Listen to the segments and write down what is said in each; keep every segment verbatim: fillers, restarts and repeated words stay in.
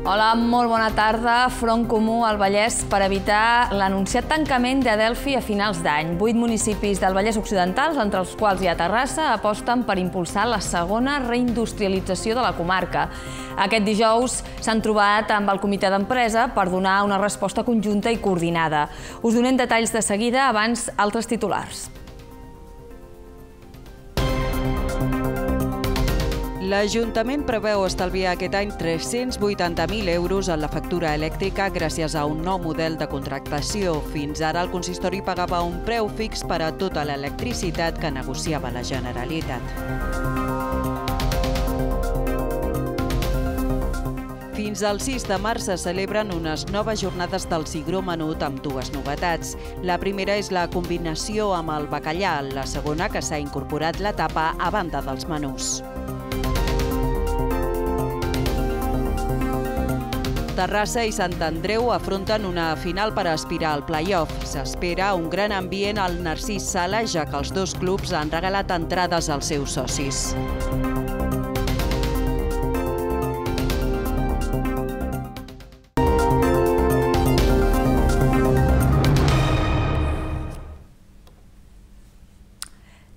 Hola, molt bona tarda. Front Comú al Vallès per evitar l'anunciat tancament de Delphi a finals d'any. Vuit municipis del Vallès Occidental, entre els quals hi ha Terrassa, aposten per impulsar la segona reindustrialització de la comarca. Aquest dijous s'han trobat amb el comitè d'empresa per donar una resposta conjunta i coordinada. Us donem detalls de seguida, abans altres titulars. L'Ajuntament preveu estalviar aquest any tres-cents vuitanta mil euros en la factura elèctrica gràcies a un nou model de contractació. Fins ara el consistori pagava un preu fix per a tota l'electricitat que negociava la Generalitat. Fins al sis de març se celebren unes noves jornades del cigró menut amb dues novetats. La primera és la combinació amb el bacallà, la segona que s'ha incorporat la tapa a banda dels menús. Terrassa i Sant Andreu afronten una final per aspirar al play-off. S'espera un gran ambient al Narcís Sala, ja que els dos clubs han regalat entrades als seus socis.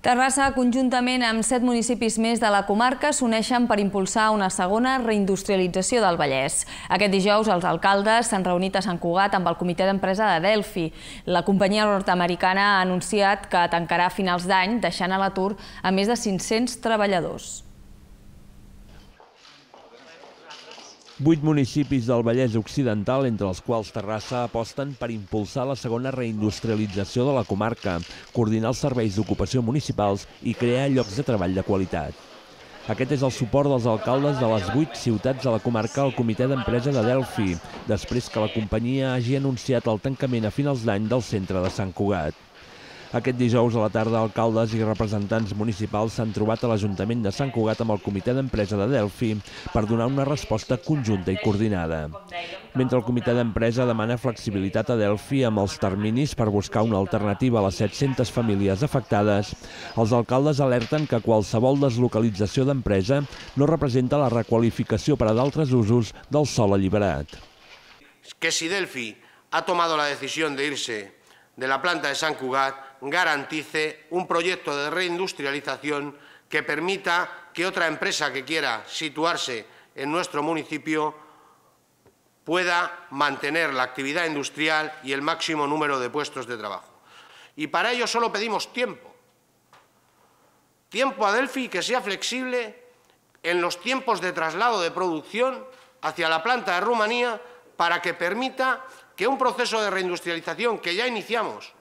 Terrassa, conjuntament amb set municipis més de la comarca, s'uneixen per impulsar una segona reindustrialització del Vallès. Aquest dijous els alcaldes s'han reunit a Sant Cugat amb el comitè d'empresa de Delphi. La companyia nord-americana ha anunciat que tancarà a finals d'any, deixant a l'atur a més de cinc-cents treballadors. Vuit municipis del Vallès Occidental, entre els quals Terrassa, aposten per impulsar la segona reindustrialització de la comarca, coordinar els serveis d'ocupació municipals i crear llocs de treball de qualitat. Aquest és el suport dels alcaldes de les vuit ciutats de la comarca al comitè d'empresa de Delphi, després que la companyia hagi anunciat el tancament a finals d'any del centre de Sant Cugat. Aquest dijous a la tarda, alcaldes i representants municipals s'han trobat a l'Ajuntament de Sant Cugat amb el comitè d'empresa de Delphi per donar una resposta conjunta i coordinada. Mentre el comitè d'empresa demana flexibilitat a Delphi amb els terminis per buscar una alternativa a les set-centes famílies afectades, els alcaldes alerten que qualsevol deslocalització d'empresa no representa la requalificació per a d'altres usos del sòl alliberat. Que si Delphi ha tomado la decisión de irse de la planta de Sant Cugat, garantice un proyecto de reindustrialización que permita que otra empresa que quiera situarse en nuestro municipio pueda mantener la actividad industrial y el máximo número de puestos de trabajo. Y para ello solo pedimos tiempo. Tiempo a Delphi que sea flexible en los tiempos de traslado de producción hacia la planta de Rumanía para que permita que un proceso de reindustrialización que ya iniciamos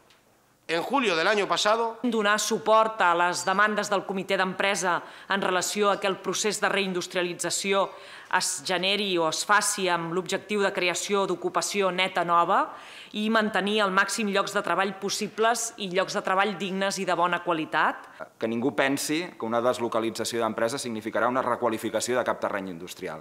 en julio del año pasado... Donar suport a les demandes del comitè d'empresa en relació a que el procés de reindustrialització es generi o es faci amb l'objectiu de creació d'ocupació neta nova i mantenir el màxim llocs de treball possibles i llocs de treball dignes i de bona qualitat. Que ningú pensi que una deslocalització d'empresa significarà una requalificació de cap terreny industrial.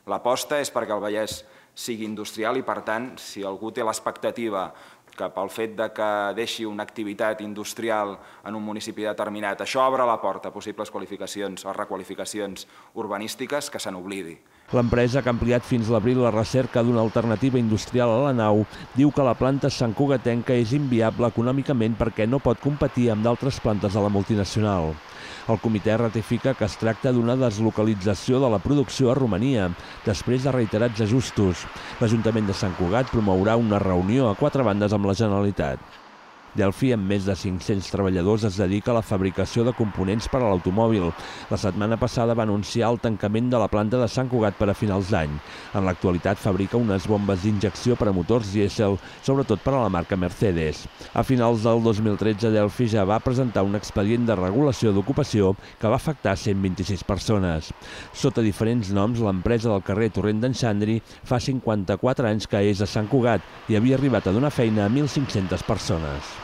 L'aposta és perquè el Vallès sigui industrial i, per tant, si algú té l'expectativa que pel fet de que deixi una activitat industrial en un municipi determinat, això obre la porta a possibles qualificacions o requalificacions urbanístiques, que se n'oblidi. L'empresa, que ha ampliat fins l'abril la recerca d'una alternativa industrial a la nau, diu que la planta santcugatenca és inviable econòmicament perquè no pot competir amb d'altres plantes de la multinacional. El comitè ratifica que es tracta d'una deslocalització de la producció a Romania, després de reiterats ajustos. L'Ajuntament de Sant Cugat promourà una reunió a quatre bandes amb la Generalitat. Delphi, amb més de cinc-cents treballadors, es dedica a la fabricació de components per a l'automòbil. La setmana passada va anunciar el tancament de la planta de Sant Cugat per a finals d'any. En l'actualitat fabrica unes bombes d'injecció per a motors dièsel, sobretot per a la marca Mercedes. A finals del dos mil tretze, Delphi ja va presentar un expedient de regulació d'ocupació que va afectar cent vint-i-sis persones. Sota diferents noms, l'empresa del carrer Torrent d'en Xandri fa cinquanta-quatre anys que és a Sant Cugat i havia arribat a donar feina a mil cinc-centes persones.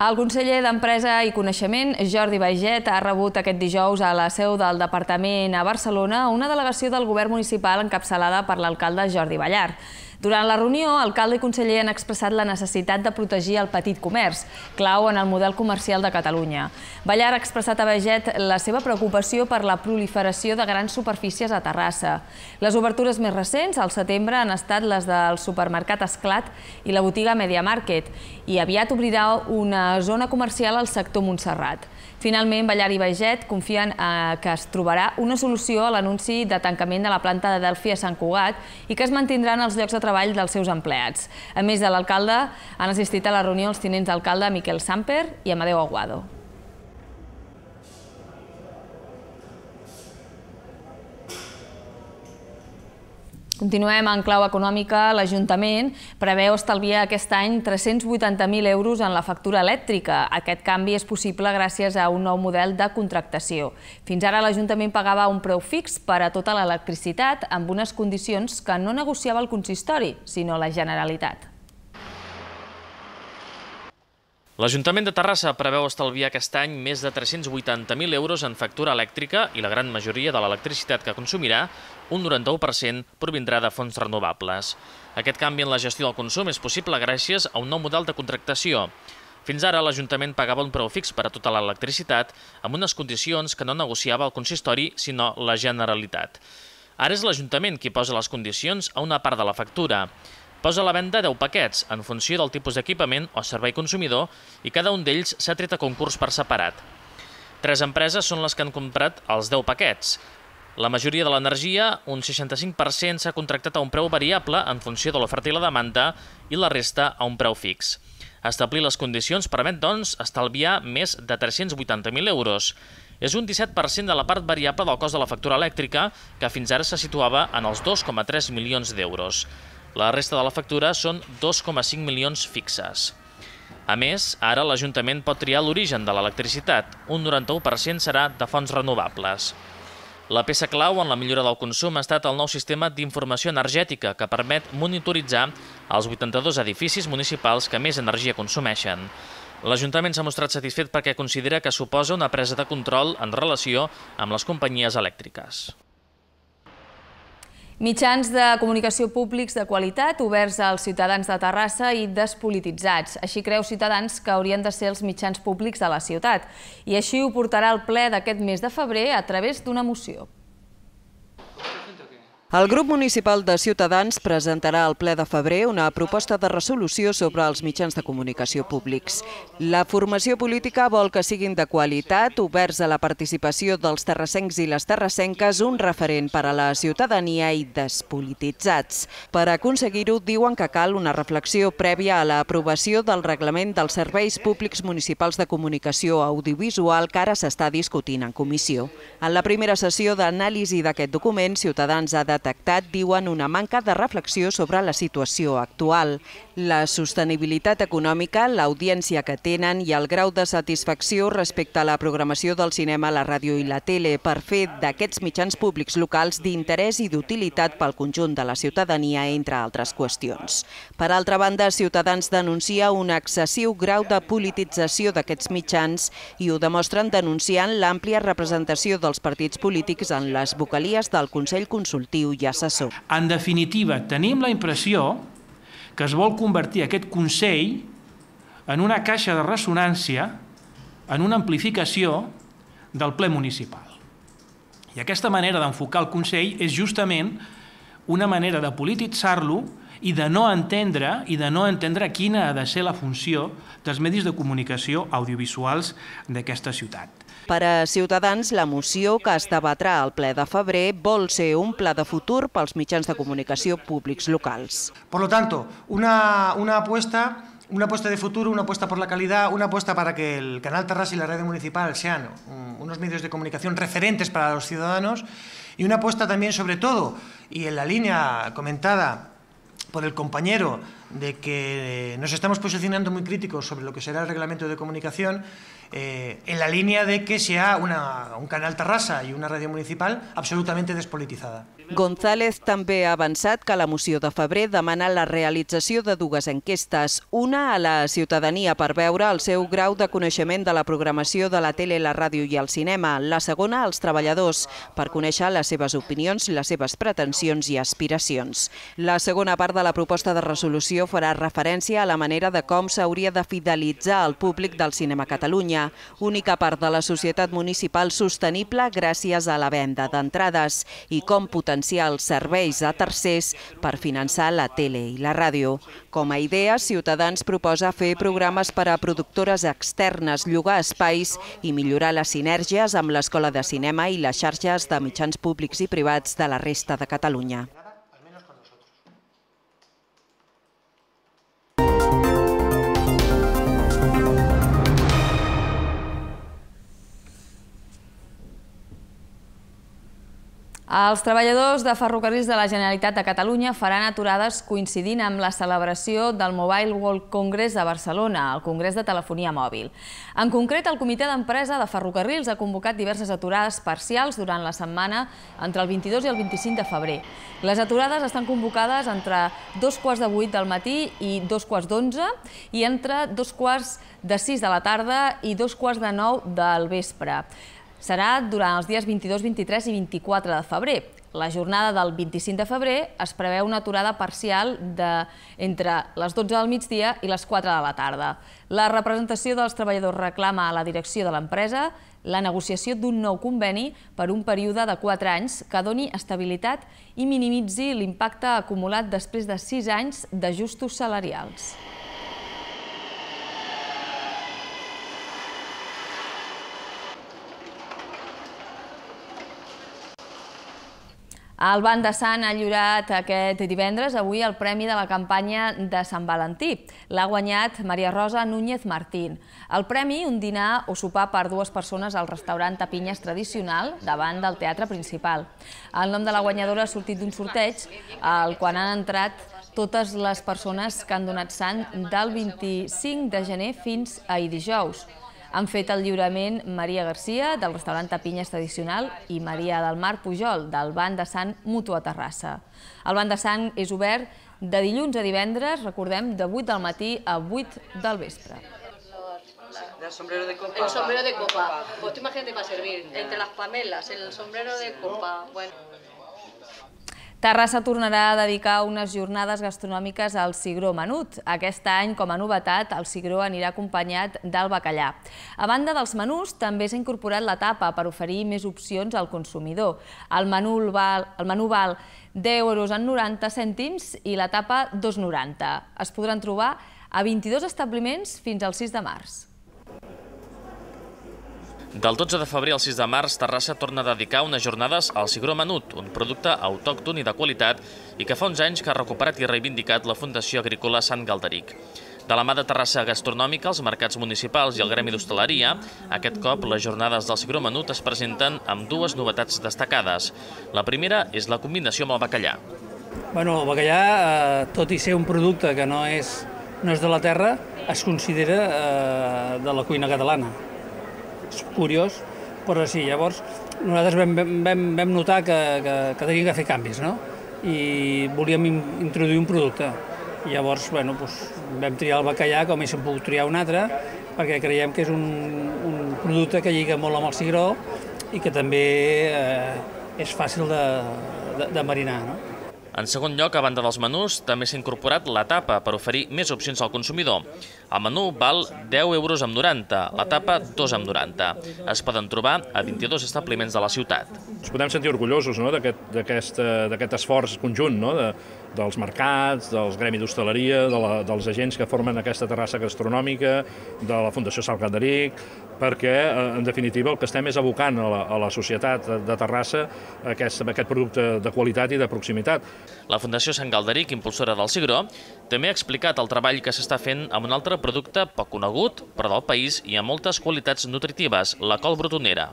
El conseller d'Empresa i Coneixement, Jordi Baiget, ha rebut aquest dijous a la seu del departament a Barcelona una delegació del govern municipal encapçalada per l'alcalde Jordi Ballart. Durant la reunió, alcalde i conseller han expressat la necessitat de protegir el petit comerç, clau en el model comercial de Catalunya. Ballar ha expressat a Baiget la seva preocupació per la proliferació de grans superfícies a Terrassa. Les obertures més recents, al setembre, han estat les del supermercat Esclat i la botiga Media Market, i aviat obrirà una zona comercial al sector Montserrat. Finalment, Ballar i Baiget confien que es trobarà una solució a l'anunci de tancament de la planta de Delphi a Sant Cugat i que es mantindran els llocs de treball dels seus empleats. A més de l'alcalde, han assistit a la reunió els tinents d'alcalde Miquel Samper i Amadeu Aguado. Continuem en clau econòmica. L'Ajuntament preveu estalviar aquest any tres-cents vuitanta mil euros en la factura elèctrica. Aquest canvi és possible gràcies a un nou model de contractació. Fins ara l'Ajuntament pagava un preu fix per a tota l'electricitat amb unes condicions que no negociava el consistori, sinó la Generalitat. L'Ajuntament de Terrassa preveu estalviar aquest any més de tres-cents vuitanta mil euros en factura elèctrica i la gran majoria de l'electricitat que consumirà, un noranta-u per cent, provindrà de fonts renovables. Aquest canvi en la gestió del consum és possible gràcies a un nou model de contractació. Fins ara, l'Ajuntament pagava un preu fix per a tota l'electricitat amb unes condicions que no negociava el consistori, sinó la Generalitat. Ara és l'Ajuntament qui posa les condicions a una part de la factura. Posa a la venda deu paquets, en funció del tipus d'equipament o servei consumidor, i cada un d'ells s'ha tret a concurs per separat. Tres empreses són les que han comprat els deu paquets. La majoria de l'energia, un seixanta-cinc per cent, s'ha contractat a un preu variable en funció de l'oferta i la demanda i la resta a un preu fix. Establir les condicions permet, doncs, estalviar més de tres-cents vuitanta mil euros. És un disset per cent de la part variable del cost de la factura elèctrica, que fins ara se situava en els dos coma tres milions d'euros. La resta de la factura són dos coma cinc milions fixes. A més, ara l'Ajuntament pot triar l'origen de l'electricitat. Un noranta-u per cent serà de fonts renovables. La peça clau en la millora del consum ha estat el nou sistema d'informació energètica que permet monitoritzar els vuitanta-dos edificis municipals que més energia consumeixen. L'Ajuntament s'ha mostrat satisfet perquè considera que suposa una presa de control en relació amb les companyies elèctriques. Mitjans de comunicació públics de qualitat oberts als ciutadans de Terrassa i despolititzats. Així creu Ciutadans que haurien de ser els mitjans públics de la ciutat. I així ho portarà al ple d'aquest mes de febrer a través d'una moció. El grup municipal de Ciutadans presentarà al ple de febrer una proposta de resolució sobre els mitjans de comunicació públics. La formació política vol que siguin de qualitat, oberts a la participació dels terrassencs i les terrassenques, un referent per a la ciutadania i despolititzats. Per aconseguir-ho, diuen que cal una reflexió prèvia a l'aprovació del reglament dels serveis públics municipals de comunicació audiovisual que ara s'està discutint en comissió. En la primera sessió d'anàlisi d'aquest document, Ciutadans ha detectat, diuen, una manca de reflexió sobre la situació actual. La sostenibilitat econòmica, l'audiència que tenen i el grau de satisfacció respecte a la programació del cinema, la ràdio i la tele per fer d'aquests mitjans públics locals d'interès i d'utilitat pel conjunt de la ciutadania, entre altres qüestions. Per altra banda, Ciutadans denuncia un excessiu grau de politització d'aquests mitjans i ho demostren denunciant l'àmplia representació dels partits polítics en les vocalies del Consell Consultiu i Assessor. En definitiva, tenim la impressió que es vol convertir aquest Consell en una caixa de ressonància, en una amplificació del ple municipal. I aquesta manera d'enfocar el Consell és justament una manera de polititzar-lo i de no entendre i de no entendre quina ha de ser la funció dels medis de comunicació audiovisuals d'aquesta ciutat. Per a Ciutadans, la moció que es debatrà al ple de febrer vol ser un pla de futur pels mitjans de comunicació públics locals. Por lo tanto, una, una apuesta... Una apuesta de futuro, una apuesta por la calidad, una apuesta para que el Canal Terrassa y la radio municipal sean unos medios de comunicación referentes para los ciudadanos y una apuesta también sobre todo, y en la línea comentada por el compañero de que nos estamos posicionando muy críticos sobre lo que será el reglamento de comunicación, eh, en la línea de que sea una, un canal Terrassa i una ràdio municipal absolutamente despolitizada. González també ha avançat que la moció de febrer demana la realització de dues enquestes, una a la ciutadania per veure el seu grau de coneixement de la programació de la tele, la ràdio i el cinema, la segona als treballadors, per conèixer les seves opinions, les seves pretensions i aspiracions. La segona part de la proposta de resolució farà referència a la manera de com s'hauria de fidelitzar el públic del cinema a Catalunya, única part de la societat municipal sostenible gràcies a la venda d'entrades, i com potenciar els serveis a tercers per finançar la tele i la ràdio. Com a idea, Ciutadans proposa fer programes per a productores externes, llogar espais i millorar les sinergies amb l'Escola de Cinema i les xarxes de mitjans públics i privats de la resta de Catalunya. Els treballadors de Ferrocarrils de la Generalitat de Catalunya faran aturades coincidint amb la celebració del Mobile World Congress de Barcelona, el Congrés de Telefonia Mòbil. En concret, el Comitè d'Empresa de Ferrocarrils ha convocat diverses aturades parcials durant la setmana entre el vint-i-dos i el vint-i-cinc de febrer. Les aturades estan convocades entre dos quarts de vuit del matí i dos quarts d'onze i entre dos quarts de sis de la tarda i dos quarts de nou del vespre. Serà durant els dies vint-i-dos, vint-i-tres i vint-i-quatre de febrer. La jornada del vint-i-cinc de febrer es preveu una aturada parcial entre les dotze del migdia i les quatre de la tarda. La representació dels treballadors reclama a la direcció de l'empresa la negociació d'un nou conveni per un període de quatre anys que doni estabilitat i minimitzi l'impacte acumulat després de sis anys d'ajustos salarials. El Banc de Sant ha lliurat aquest divendres, avui, el Premi de la campanya de Sant Valentí. L'ha guanyat Maria Rosa Núñez Martín. El premi, un dinar o sopar per dues persones al restaurant Tapinyes tradicional davant del teatre principal. El nom de la guanyadora ha sortit d'un sorteig al qual han entrat totes les persones que han donat sang del vint-i-cinc de gener fins ahir dijous. Han fet el lliurament Maria Garcia, del restaurant Tapinyes Tradicional, i Maria del Mar Pujol, del Banc de Sant Mutu a Terrassa. El Banc de Sant és obert de dilluns a divendres, recordem, de vuit del matí a vuit del vespre. El sombrero de copa. El sombrero de copa. Pues tú imagínate para servir, entre las pamelas, el sombrero de copa. Bueno. Terrassa tornarà a dedicar unes jornades gastronòmiques al cigró menut. Aquest any, com a novetat, el cigró anirà acompanyat del bacallà. A banda dels menús, també s'ha incorporat la tapa per oferir més opcions al consumidor. El menú val deu euros amb noranta cèntims i la tapa dos coma noranta. Es podran trobar a vint-i-dos establiments fins al sis de març. Del dotze de febrer al sis de març, Terrassa torna a dedicar unes jornades al cigró menut, un producte autòcton i de qualitat i que fa uns anys que ha recuperat i reivindicat la Fundació Agrícola Sant Galderic. De la mà de Terrassa Gastronòmica, els mercats municipals i el gremi d'hostaleria, aquest cop les jornades del cigró menut es presenten amb dues novetats destacades. La primera és la combinació amb el bacallà. Bueno, el bacallà, tot i ser un producte que no és de la terra, es considera de la cuina catalana. És curiós, però sí, llavors nosaltres vam notar que teníem que fer canvis, no? I volíem introduir un producte. Llavors, bueno, vam triar el bacallà com haguéssim pogut triar un altre, perquè creiem que és un producte que lliga molt amb el cigró i que també és fàcil de marinar, no? En segon lloc, a banda dels menús, també s'ha incorporat la tapa per oferir més opcions al consumidor. El menú val deu euros amb noranta, la tapa dos amb noranta. Es poden trobar a vint-i-dos establiments de la ciutat. Ens podem sentir orgullosos d'aquest esforç conjunt dels mercats, dels gremis d'hostaleria, dels agents que formen aquesta terrassa gastronòmica, de la Fundació Sant Galderic, perquè, en definitiva, el que estem és abocant a la societat de Terrassa aquest producte de qualitat i de proximitat. La Fundació Sant Galderic, impulsora del cigró, també ha explicat el treball que s'està fent amb un altre producte poc conegut, però del país i amb moltes qualitats nutritives, la col brotonera.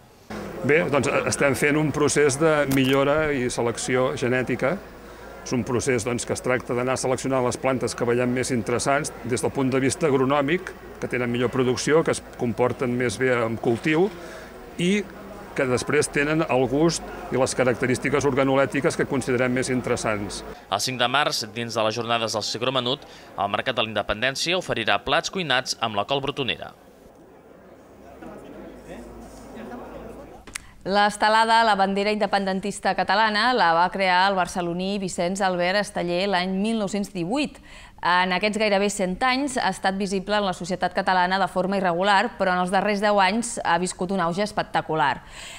Bé, doncs estem fent un procés de millora i selecció genètica És un procés que es tracta d'anar seleccionant les plantes que veiem més interessants des del punt de vista agronòmic, que tenen millor producció, que es comporten més bé en cultiu i que després tenen el gust i les característiques organolèptiques que considerem més interessants. El cinc de març, dins de les jornades del Cigró Menut, el Mercat de la Independència oferirà plats cuinats amb la col brotonera. L'estelada La bandera independentista catalana la va crear el barceloní Vicenç Albert Esteller l'any mil nou-cents divuit. En aquests gairebé cent anys ha estat visible en la societat catalana de forma irregular, però en els darrers deu anys ha viscut un auge espectacular.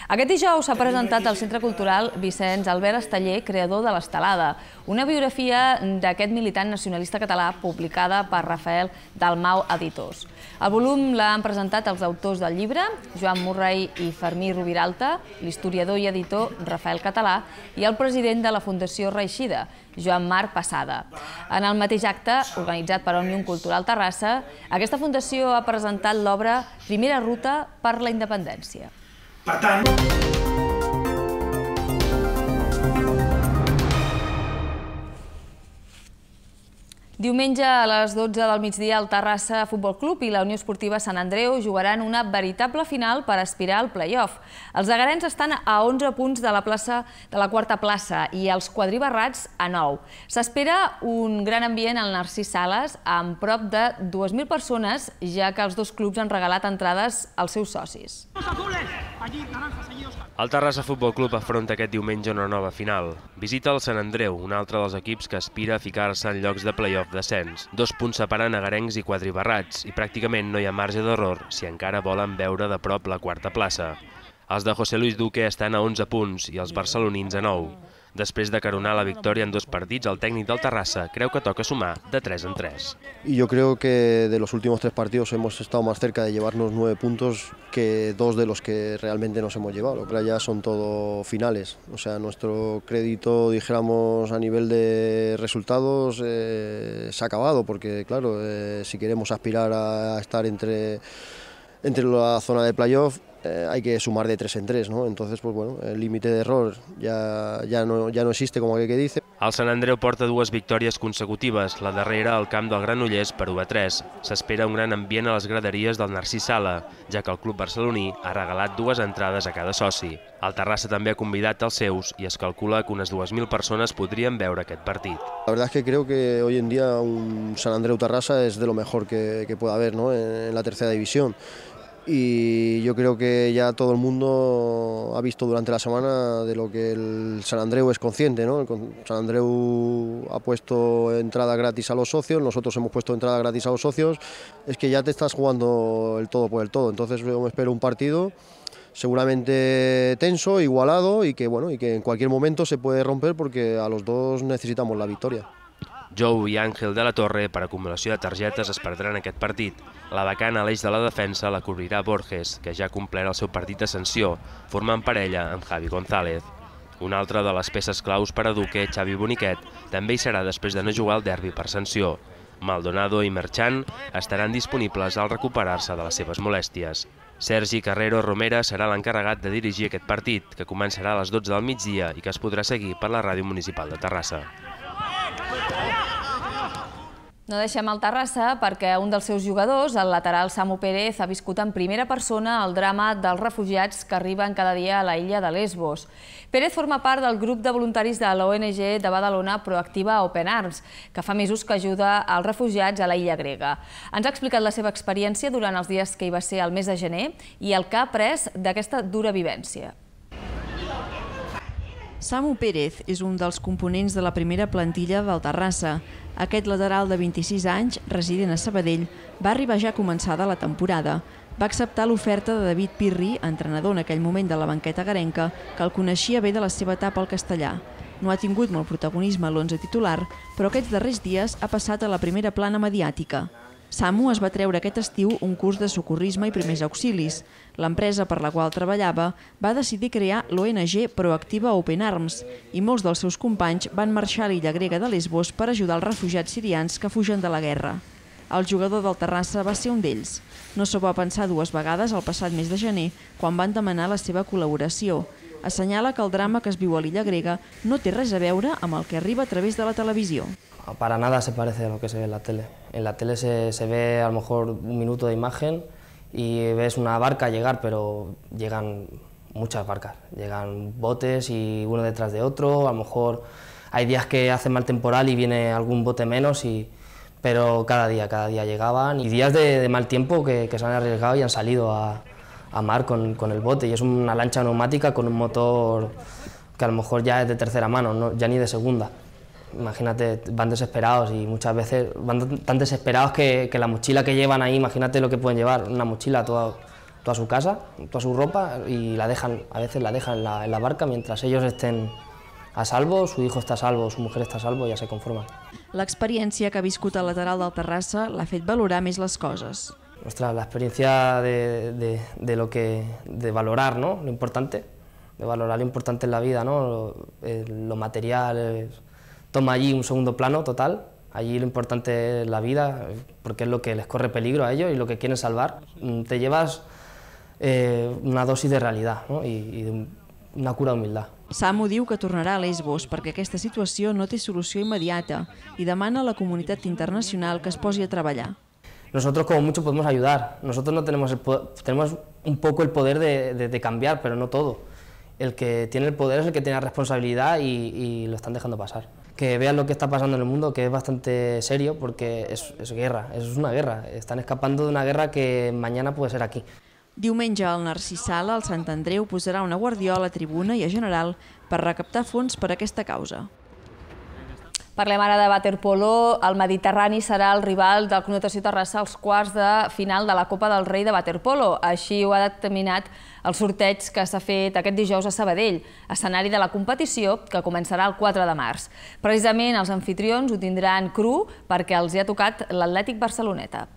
Aquest dijous s'ha presentat al Centre Cultural Vicenç Albert Esteller, creador de l'estelada, una biografia d'aquest militant nacionalista català publicada per Rafael Dalmau Editors. El volum l'han presentat els autors del llibre, Joan Murray i Fermí Rubiralta, l'historiador i editor Rafael Català i el president de la Fundació Reeixida, Joan Marc Passada. En el mateix acte, organitzat per Òmnium Cultural Terrassa, aquesta fundació ha presentat l'obra Primera ruta per la independència. Per tant... Diumenge a les dotze del migdia el Terrassa Futbol Club i la Unió Esportiva Sant Andreu jugaran una veritable final per aspirar al play-off. Els agarens estan a onze punts de la plaça de la quarta plaça i els quadribarrats a nou. S'espera un gran ambient al Narcís Sales amb prop de dues mil persones, ja que els dos clubs han regalat entrades als seus socis. El Terrassa Futbol Club afronta aquest diumenge una nova final. Visita el Sant Andreu, un altre dels equips que aspira a ficar-se en llocs de play-off descens. Dos punts separen agarencs i quadribarrats i pràcticament no hi ha marge d'error si encara volen veure de prop la quarta plaça. Els de José Luis Duque estan a onze punts i els barcelonins a nou. Després de caronar la victòria en dos partits, el tècnic del Terrassa creu que toca sumar de tres en tres. Y yo creo que de los últimos tres partidos hemos estado más cerca de llevarnos nueve puntos que dos de los que realmente nos hemos llevado. Pero ya son todo finales. O sea, nuestro crédito, dijéramos, a nivel de resultados eh, se ha acabado, porque claro, eh, si queremos aspirar a estar entre, entre la zona de playoff, Eh, hay que sumar de tres en tres, ¿no? Entonces, pues bueno, el límite de error ya, ya, no, ya no existe, como aquel que dice. El Sant Andreu porta dues victòries consecutives, la darrera al camp del Granollers per u a tres. S'espera un gran ambient a les graderies del Narcís Sala, ja que el club barceloní ha regalat dues entrades a cada soci. El Terrassa també ha convidat els seus i es calcula que unes dues mil persones podrien veure aquest partit. La verdad es que creo que hoy en día un Sant Andreu Terrassa es de lo mejor que, que pueda haber, ¿no? en, en la tercera división. Y yo creo que ya todo el mundo ha visto durante la semana de lo que el Sant Andreu es consciente, ¿no? El Sant Andreu ha puesto entrada gratis a los socios, nosotros hemos puesto entrada gratis a los socios, es que ya te estás jugando el todo por el todo. Entonces yo me espero un partido seguramente tenso, igualado y que, bueno, y que en cualquier momento se puede romper porque a los dos necesitamos la victoria. Jou i Àngel de la Torre, per acumulació de targetes, es perdran aquest partit. La vacant a l'eix de la defensa la cobrirà Borges, que ja ha complert el seu partit de sanció, formant parella amb Javi González. Una altra de les peces claus per a Duque, Xavi Boniquet, també hi serà després de no jugar al derbi per sanció. Maldonado i Merchan estaran disponibles al recuperar-se de les seves molèsties. Sergi Carrero Romera serà l'encarregat de dirigir aquest partit, que començarà a les dotze del migdia i que es podrà seguir per la Ràdio Municipal de Terrassa. No deixem el Terrassa perquè un dels seus jugadors, el lateral Samu Pérez, ha viscut en primera persona el drama dels refugiats que arriben cada dia a la illa de Lesbos. Pérez forma part del grup de voluntaris de l'O N G de Badalona Proactiva Open Arms, que fa mesos que ajuda als refugiats a la illa grega. Ens ha explicat la seva experiència durant els dies que hi va ser el mes de gener i el que ha après d'aquesta dura vivència. Samu Pérez és un dels components de la primera plantilla del Terrassa. Aquest lateral de vint-i-sis anys, resident a Sabadell, va arribar ja començada la temporada. Va acceptar l'oferta de David Pirri, entrenador en aquell moment de la banqueta garenca, que el coneixia bé de la seva etapa al castellà. No ha tingut molt protagonisme a l'onze titular, però aquests darrers dies ha passat a la primera plana mediàtica. Samu es va treure aquest estiu un curs de socorrisme i primers auxilis. L'empresa per la qual treballava va decidir crear l'O N G Proactiva Open Arms i molts dels seus companys van marxar a l'illa grega de Lesbos per ajudar els refugiats sirians que fugen de la guerra. El jugador del Terrassa va ser un d'ells. No s'ho va pensar dues vegades el passat mes de gener, quan van demanar la seva col·laboració. Assenyala que el drama que es viu a l'illa grega no té res a veure amb el que arriba a través de la televisió. Para nada se parece a lo que se ve en la tele. En la tele se, se ve a lo mejor un minuto de imagen y ves una barca llegar, pero llegan muchas barcas. Llegan botes y uno detrás de otro, a lo mejor hay días que hace mal temporal y viene algún bote menos, y, pero cada día, cada día llegaban. Y días de, de mal tiempo que, que se han arriesgado y han salido a, a mar con, con el bote. Y es una lancha neumática con un motor que a lo mejor ya es de tercera mano, no, ya ni de segunda. Imagínate, van desesperados y muchas veces van tan desesperados que, que la mochila que llevan ahí, imagínate lo que pueden llevar, una mochila toda, toda su casa, toda su ropa, y la dejan, a veces la dejan en la, en la barca mientras ellos estén a salvo, su hijo està a salvo, su mujer està a salvo, ja se conformen. L'experiència que ha viscut al lateral del Terrassa l'ha fet valorar més les coses. Ostras, la experiencia de, de, de lo que, de valorar, ¿no? Lo importante, de valorar lo importante en la vida, ¿no? Lo, eh, lo material eh, toma allí un segundo plano total. Allí lo importante es la vida, porque es lo que les corre peligro a ellos y lo que quieren salvar. Te llevas eh, una dosis de realidad, ¿no? y, y de una cura d'humildad. Samu diu que tornarà a Lesbos perquè aquesta situació no té solució immediata i demana a la comunitat internacional que es posi a treballar. Nosotros como mucho podemos ayudar, nosotros no tenemos, el poder, tenemos un poco el poder de, de, de cambiar, pero no todo. El que tiene el poder es el que tiene la responsabilidad y, y lo están dejando pasar. Que vean lo que está pasando en el mundo, que es bastante serio, porque es, es guerra, es una guerra. Están escapando de una guerra que mañana puede ser aquí. Diumenge al Narcís Sala, el Sant Andreu posarà una guardiola a tribuna i a general per recaptar fons per a aquesta causa. Parlem ara de waterpolo. El Mediterrani serà el rival del Club Natació Terrassa als quarts de final de la Copa del Rei de waterpolo. Així ho ha determinat el sorteig que s'ha fet aquest dijous a Sabadell, escenari de la competició que començarà el quatre de març. Precisament els anfitrions ho tindran cru perquè els hi ha tocat l'Atlètic Barceloneta.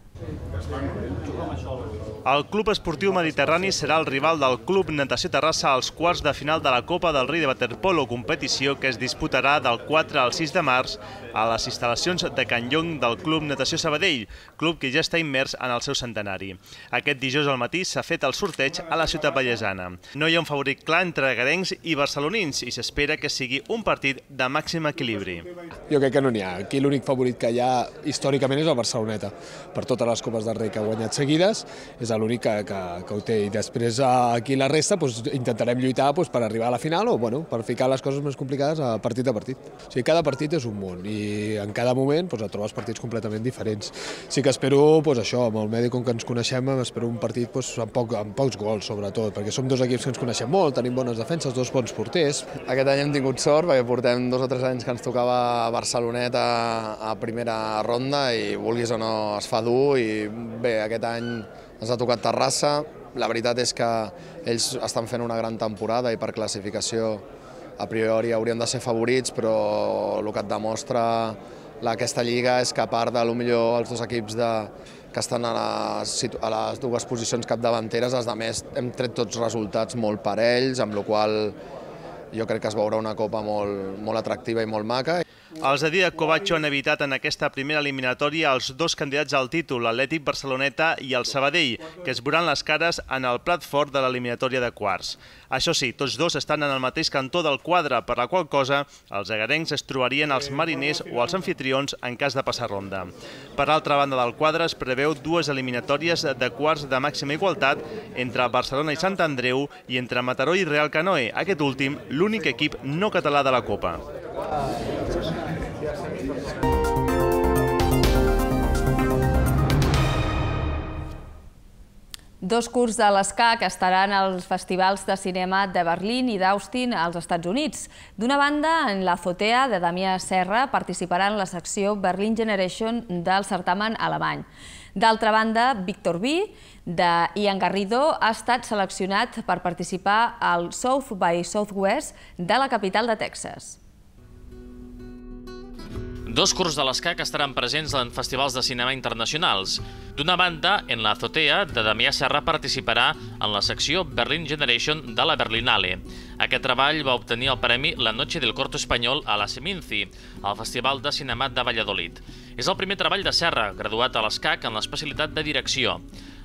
El Club Esportiu Mediterrani serà el rival del Club Natació Terrassa als quarts de final de la Copa del Rei de waterpolo, competició que es disputarà del quatre al sis de març a les instal·lacions de Can Llong del Club Natació Sabadell, club que ja està immers en el seu centenari. Aquest dijous al matí s'ha fet el sorteig a la ciutat vallesana. No hi ha un favorit clar entre garencs i barcelonins i s'espera que sigui un partit de màxim equilibri. Jo crec que no n'hi ha. Aquí l'únic favorit que hi ha històricament és el Barceloneta. Per totes les Copes del Rei que ha guanyat seguides, és l'únic que, que, que ho té. I després aquí la resta doncs, intentarem lluitar doncs, per arribar a la final o bueno, per ficar les coses més complicades a partit a partit. O sigui, cada partit és un món i en cada moment doncs, et trobes partits completament diferents. Sí que espero doncs, això, amb el medi com que ens coneixem, espero un partit doncs, amb, poc, amb pocs gols, sobretot, perquè som dos equips que ens coneixem molt, tenim bones defenses, dos bons porters. Aquest any hem tingut sort perquè portem dos o tres anys que ens tocava Barceloneta a primera ronda i vulguis o no es fa dur i bé, aquest any ens ha tocat Terrassa. La veritat és que ells estan fent una gran temporada i per classificació a priori haurien de ser favorits, però el que et demostra aquesta lliga és que a part de millor els dos equips de, que estan a les, a les dues posicions capdavanteres, els altres hem tret tots resultats molt parells, amb la qual jo crec que es veurà una copa molt, molt atractiva i molt maca. Els de Dídac Covacho han evitat en aquesta primera eliminatòria els dos candidats al títol, l'Atlètic Barceloneta i el Sabadell, que es veuran les cares en el plat fort de l'eliminatòria de quarts. Això sí, tots dos estan en el mateix cantó del quadre, per la qual cosa els agarencs es trobarien els mariners o els anfitrions en cas de passar ronda. Per l'altra banda del quadre es preveu dues eliminatòries de quarts de màxima igualtat entre Barcelona i Sant Andreu i entre Mataró i Real Canoe, aquest últim l'únic equip no català de la Copa. Dos curts de l'escac estaran als festivals de cinema de Berlín i d'Austin als Estats Units. D'una banda, en la Azotea de Damià Serra participarà en la secció Berlin Generation del certamen alemany. D'altra banda, Víctor Vi, de Ian Garrido, ha estat seleccionat per participar al South by Southwest de la capital de Texas. Dos curts de l'escac estaran presents en festivals de cinema internacionals. D'una banda, en la Azotea de Damià Serra participarà en la secció Berlin Generation de la Berlinale. Aquest treball va obtenir el premi La Noche del Corto Espanyol a la Seminci, al Festival de Cinema de Valladolid. És el primer treball de Serra, graduat a l'escac en l'especialitat de direcció.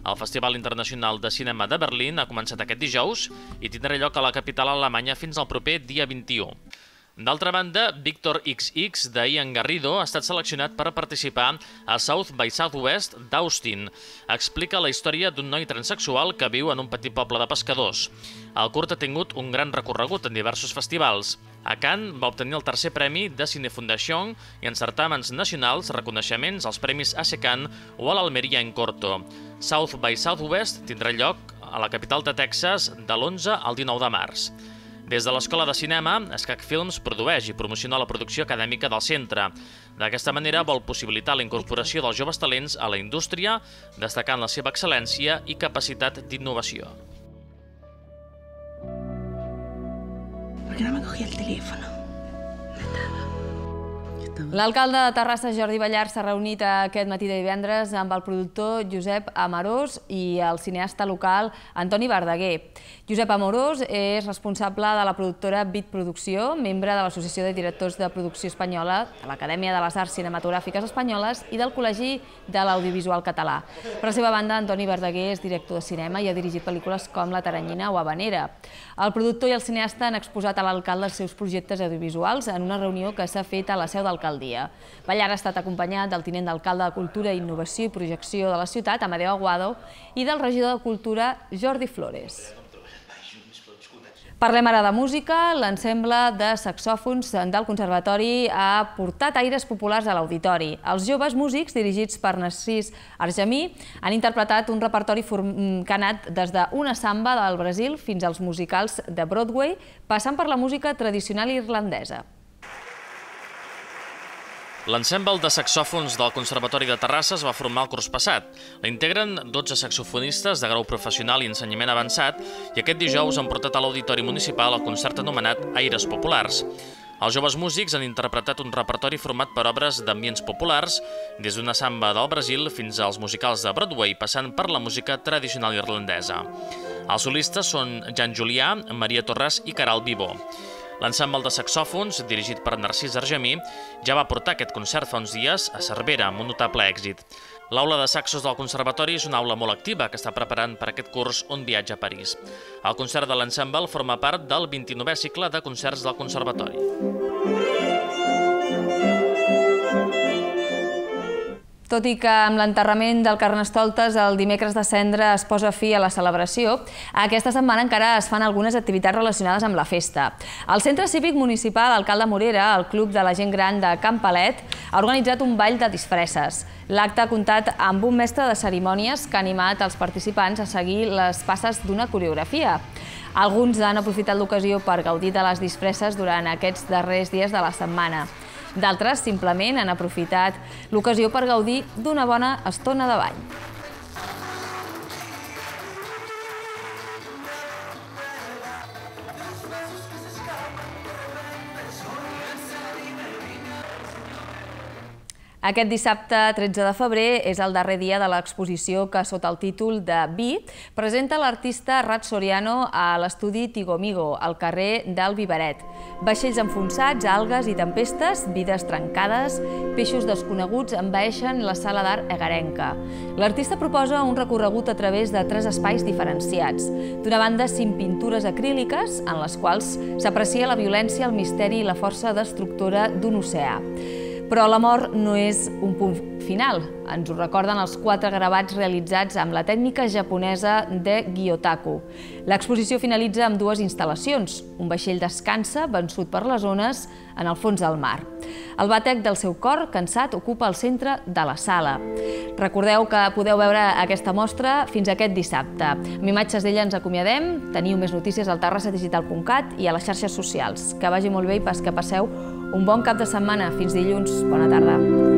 El Festival Internacional de Cinema de Berlín ha començat aquest dijous i tindrà lloc a la capital alemanya fins al proper dia vint-i-u. D'altra banda, Víctor ics ics de Ian Garrido ha estat seleccionat per participar a South by Southwest d'Austin. Explica la història d'un noi transsexual que viu en un petit poble de pescadors. El curt ha tingut un gran recorregut en diversos festivals. A Cannes va obtenir el tercer premi de Cinefundación i en certàmens nacionals reconeixements als premis A S E CAN o a l'Almeria en Corto. South by Southwest tindrà lloc a la capital de Texas de l'onze al dinou de març. Des de l'Escola de Cinema, Escac Films produeix i promociona la producció acadèmica del centre. D'aquesta manera vol possibilitar la incorporació dels joves talents a la indústria, destacant la seva excel·lència i capacitat d'innovació. ¿Por qué no me cogí el teléfono? L'alcalde de Terrassa, Jordi Ballart, s'ha reunit aquest matí de divendres amb el productor Josep Amorós i el cineasta local Antoni Verdaguer. Josep Amorós és responsable de la productora Bit Producció, membre de l'Associació de Directors de Producció Espanyola, de l'Acadèmia de les Arts Cinematogràfiques Espanyoles i del Col·legi de l'Audiovisual Català. Per la seva banda, Antoni Verdaguer és director de cinema i ha dirigit pel·lícules com La Taranyina o Habanera. El productor i el cineasta han exposat a l'alcalde els seus projectes audiovisuals en una reunió que s'ha fet a la seu d'alcaldia. Ballart ha estat acompanyat del tinent d'alcalde de Cultura, Innovació i Projecció de la ciutat, Amadeo Aguado, i del regidor de Cultura, Jordi Flores. Parlem ara de música. L'ensemble de saxòfons del Conservatori ha portat aires populars a l'auditori. Els joves músics, dirigits per Narcís Argemí, han interpretat un repertori que ha anat des d'una samba del Brasil fins als musicals de Broadway, passant per la música tradicional irlandesa. L'ensemble de saxòfons del Conservatori de Terrassa es va formar el curs passat. La integren dotze saxofonistes de grau professional i ensenyament avançat i aquest dijous han portat a l'Auditori Municipal el concert anomenat Aires Populars. Els joves músics han interpretat un repertori format per obres d'ambients populars, des d'una samba del Brasil fins als musicals de Broadway, passant per la música tradicional irlandesa. Els solistes són Jan Julià, Maria Torres i Caral Vivó. L'ensemble de saxòfons, dirigit per Narcís Argemí, ja va portar aquest concert fa uns dies a Cervera, amb un notable èxit. L'aula de saxos del Conservatori és una aula molt activa que està preparant per aquest curs un viatge a París. El concert de l'ensemble forma part del vint-i-novè cicle de concerts del Conservatori. Tot i que amb l'enterrament del Carnestoltes el dimecres de Cendra es posa fi a la celebració, aquesta setmana encara es fan algunes activitats relacionades amb la festa. El Centre Cívic Municipal Alcalde Morera, el Club de la Gent Gran de Can Palet, ha organitzat un ball de disfresses. L'acte ha comptat amb un mestre de cerimònies que ha animat els participants a seguir les passes d'una coreografia. Alguns han aprofitat l'ocasió per gaudir de les disfresses durant aquests darrers dies de la setmana. D'altres simplement han aprofitat l'ocasió per gaudir d'una bona estona de ball. Aquest dissabte tretze de febrer és el darrer dia de l'exposició que, sota el títol de Vi, presenta l'artista Rat Soriano a l'estudi Tigomigo, al carrer del Viveret. Vaixells enfonsats, algues i tempestes, vides trencades, peixos desconeguts envaeixen la sala d'art egarenca. L'artista proposa un recorregut a través de tres espais diferenciats. D'una banda, cinc pintures acríliques, en les quals s'aprecia la violència, el misteri i la força destructora d'un oceà. Però la mort no és un punt final. Ens ho recorden els quatre gravats realitzats amb la tècnica japonesa de Gyotaku. L'exposició finalitza amb dues instal·lacions. Un vaixell descansa, vençut per les ones, en el fons del mar. El bàtec del seu cor, cansat, ocupa el centre de la sala. Recordeu que podeu veure aquesta mostra fins aquest dissabte. Amb imatges d'ella ens acomiadem. Teniu més notícies al terrassa digital punt cat i a les xarxes socials. Que vagi molt bé i pas que passeu un bon cap de setmana. Fins dilluns. Bona tarda.